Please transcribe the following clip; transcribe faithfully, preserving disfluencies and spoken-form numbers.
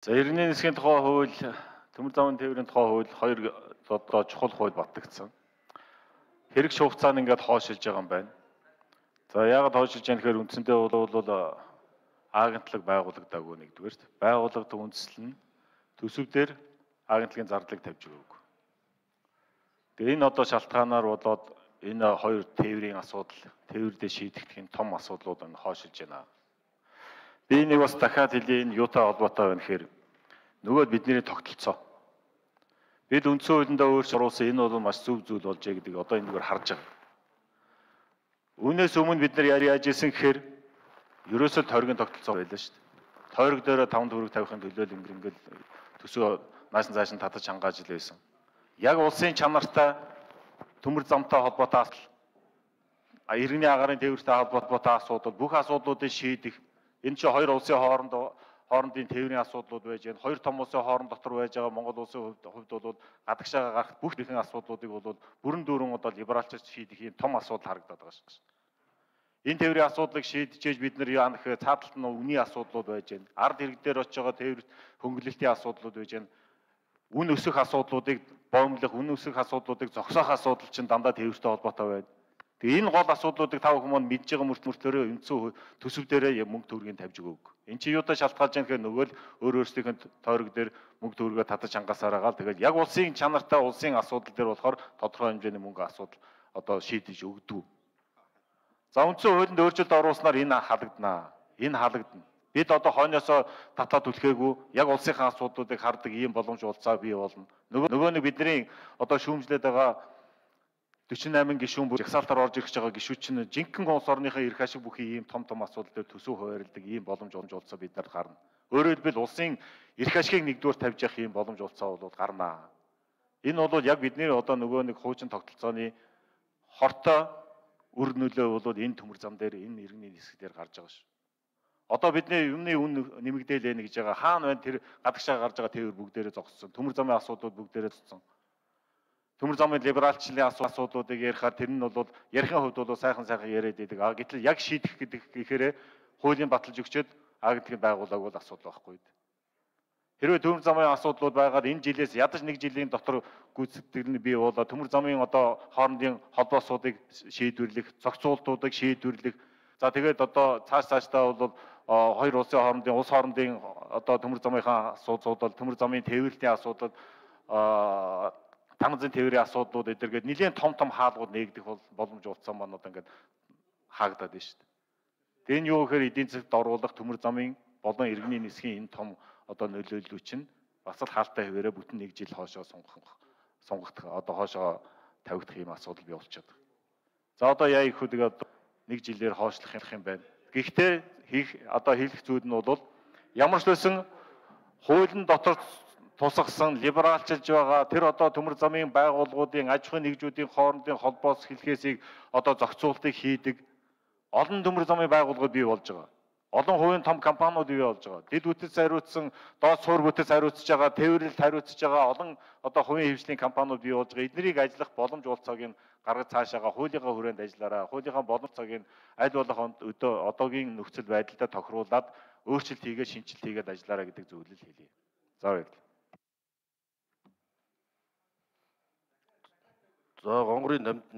За иргэний засгийн тухай хууль, төмөр замын тээврийн тухай хууль хоёр одоо чухал хууль батлагдсан. Хэрэг хугацаанд ингээд хоошилж байгаа юм байна. За яагаад хоошилж байгаа гэхээр үндсэндээ бол агентлаг байгуулагдаагүй нэгдүгээрт. Байгууллагад үндэслэл нь төсөвдөр агентлагийн зардлыг тавьж өгөөг. Тэгээ энэ одоо шалтгаанаар болоод энэ хоёр тээврийн асуудал, тээврдээ шийдэгдэх энэ том асуудлууд нь хоошилж байна. Би нэг бас дахиад хэлье, энэ юутай холбоотой байна гэхээр нөгөө бидний тогтолцоо. Бид үндсэн хуулиндаа өөрчлөлт оруулсан, энэ бол маш зөв зүйл болж байгаа гэдгийг одоо энэгээр харж байгаа. Үүнээс өмнө бид нар яаж ийсэн гэхээр ерөөсөө тойргийн тогтолцоо байлаа шүү дээ. Тойрог дээр таван төгрөг тавихын төлөө ингэр ингээл төсөө нааш цааш нь татаж хангааж л байсан. Яг улсын чанартай төмөр замтай холбоотой асуудал, иргэний агаарын тээвртэй холбоотой асуудал, бүх асуудлуудыг шийдэх. Энэ чинь хоёр улсын хооронд хоорондын тээврийн асуудлууд байж байна. Хоёр том улсын хооронд дотор байж байгаа Монгол улсын хувьд бол гадагшаага гарах бүх төрлийн асуудлуудыг бол бүрэн дүүрэн одоо либералчилж шийдэх юм том асуудал харагдаад байгаа шүү. Энэ тээврийн асуудлыг шийдчихэж бид нар яа нэх цааталт нь үний асуудлууд байж байна. Ард иргэд дээр очиж байгаа тээвэр хөнгөлөлтийн асуудлууд байж байна. Үн өсөх асуудлуудыг боомлох, үн өсөх асуудлуудыг зогсоох асуудал чинь дандаа тээвэртэй холбоотой байна. Тэгээ энэ гол асуудлуудыг тав хүмүүс мэдж байгаа мөртлөөрөө үндсэн төсөв дээрээ мөнгө төгрөгийг тавьж өгөөг. Энд чинь юутай шалтгаалж байгаа гэхээр нөгөө л өөр өөрсдийнх нь тойрог дээр мөнгө төгрөгөө татаж хангасаар байгаа л тэгэл яг улсын чанартай улсын асуудал дээр болохоор тодорхой хэмжээний мөнгө асуудал одоо шийдэж өгдөг. За үндсэн хуулинд өөрчлөлт оруулснаар энэ халагдана. Энэ халагдана. Бид одоо хойноосоо татаад түлхээгүй яг улсынхаа асуудлуудыг хардаг ийм боломж улцаа бий болно. Нөгөө нөгөө нэг бидний одоо шүүмжлээд байгаа дөрвөн и восемь гишүүн бүр жагсаалтаар орж ирж байгаа гишүүд чинь жинхэнэ улс орныхаа эрх ашиг бүхий ийм том том асуудал дээр төсөв хуваарлдаг ийм боломж олж бид нарт гарна. Өөрөөр хэлбэл улсын эрх ашигыг нэгдүгээр тавьж явах ийм боломж олцоо бол гарнаа. Энэ бол яг бидний одоо нөгөө нэг хуучин тогтолцооны хортой үр нөлөө бол энэ төмөр зам дээр энэ иргэний нисэх дээр гарч байгаа шүү. Одоо бидний юмны үн нэмэгдээл ээ гэж байгаа хаана байна тэр гадагшаа гарч байгаа тээвэр бүгдээрээ зогссон. Төмөр замын асуудлууд бүгдээрээ зогссон. Төмөр замын либералчлалын асуудлуудыг ярихаар тэр нь бол ярихын хувьд бол сайхан сайхан яриад байдаг. А гэтэл яг шийдэх гэдэг гэхээр хуулийн баталж өгчөөд агентлагийн байгууллага бол асуудал байхгүй. Хэрвээ төмөр замын асуудлууд байгаад энэ жилээс ядаж нэг жилийн дотор гүйцэтгэл нь бий болоо төмөр замын одоо хоорондын холбоосуудыг шийдвэрлэх, зохицуултуудыг шийдвэрлэх. За тэгээд одоо цааш цаашдаа бол хоёр улсын хоорондын улс хоорондын одоо төмөр замынхаа асуудал, төмөр замын тээвэрлэлийн асуудал, танзын тээврийн асуудлууд эдэргээд нэлээд том том хаалгууд нээгдэх бол боломж олцсон маань одоо ингээд хаагдаад байна шүү дээ. Тэгээ энэ юу гэхээр эдийн засгт оруулах төмөр замын болон иргэний нисхийн энэ том одоо нөлөөллүүд чинь бас л хаалтай хэвээрээ бүтэн нэг жил хоошоо сунгах сунгах одоо хоошоо тавигдах юм асуудал бий болчиход байна. За одоо яа их хөдөг одоо нэг жилээр хоошлох юм байна. Гэхдээ хийх одоо хийх зүйл нь бол ямар ч байсан хуулийн дотор тусгасан либералчилж байгаа тэр одоо төмөр замын байгууллагуудын аж ахуйн нэгжүүдийн хоорондын холбоос хэлхээсийг одоо зохицуултыг хийдэг олон төмөр замын байгууллагууд бий болж байгаа. Олон хувийн том компаниуд бий болж байгаа. Дэд бүтц хариуцсан, доод суур бүтц хариуцж байгаа, тээвэрлэлд хариуцж байгаа олон одоо хувийн хвшлийн компаниуд бий болж байгаа. Эднийг ажиллах боломж олцоог нь гаргаж цаашаага хуулийнхаа хүрээнд ажиллаараа, хуулийнхаа боломжцоог нь аль болох өдөө одоогийн нөхцөл байдалтай тохируулаад өөрчлөлт хийгээд шинжилт хийгээд ажиллаараа гэдэг зөвлөл хэлье. За баярлалаа. За гонгорын дамжны